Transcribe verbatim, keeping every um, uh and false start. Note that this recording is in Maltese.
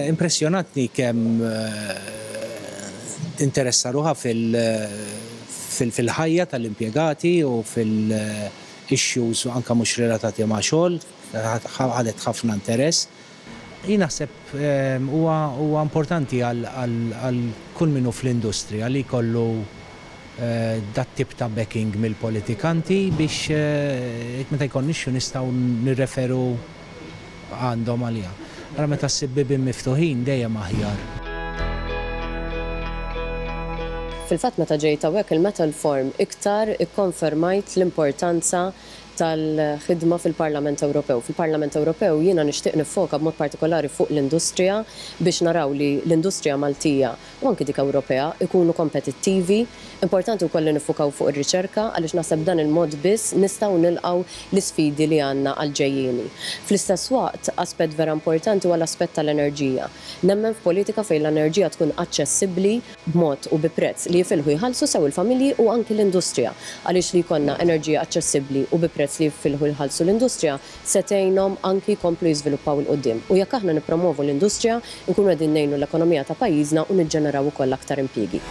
Impressjonatni kemm tinteressa ruħha fil-ħajja tal-impjegati u fil-issues anke mhux relatati ma' xogħol, ħadet ħafna interess. Jien naħseb huwa importanti għal kull min hu fl-industrija li jkollu dat tip ta' backing mill-politikanti biex meta jkollna issue nistgħu nirreferu għandhom għaliha. Ara meta ssib bibien miftuħin dejjem aħjar. Fil-fatt meta ġejt hawnhekk il-Metal Forum iktar ikkonfermajt l-importanza tal-ħidma fil-Parlament Ewropew. Fil-Parlament Ewropew jiena nixtieq nifoka b'mod partikolari fuq l-industrija biex naraw li l-industrija Maltija u anki dik Ewropea ikunu kompetittivi. Importanti wkoll li nifukaw fuq ir-riċerka għaliex naħseb dan il-mod biss nistgħu nilqgħu l-isfidi li għandna għal-ġejjieni. Fl-istess waqt, aspett vera importanti huwa l-aspett tal-enerġija. Nemmen f'politika fejn l-enerġija tkun aċċessibbli b'mod u bi prezz li jifilħu jħallsu sew il-familji u anki l-industrija, għaliex li jkollna enerġija aċċessibbli u bi prezz li jifilħu jħallsu l-industrija se tgħinhom anki jkomplu jiżviluppaw 'il quddiem. U jekk aħna nippromovu l-industrija, nkunu qegħdin ngħinu l-ekonomija ta' pajjiżna u niġġeneraw ukoll aktar impjiegi.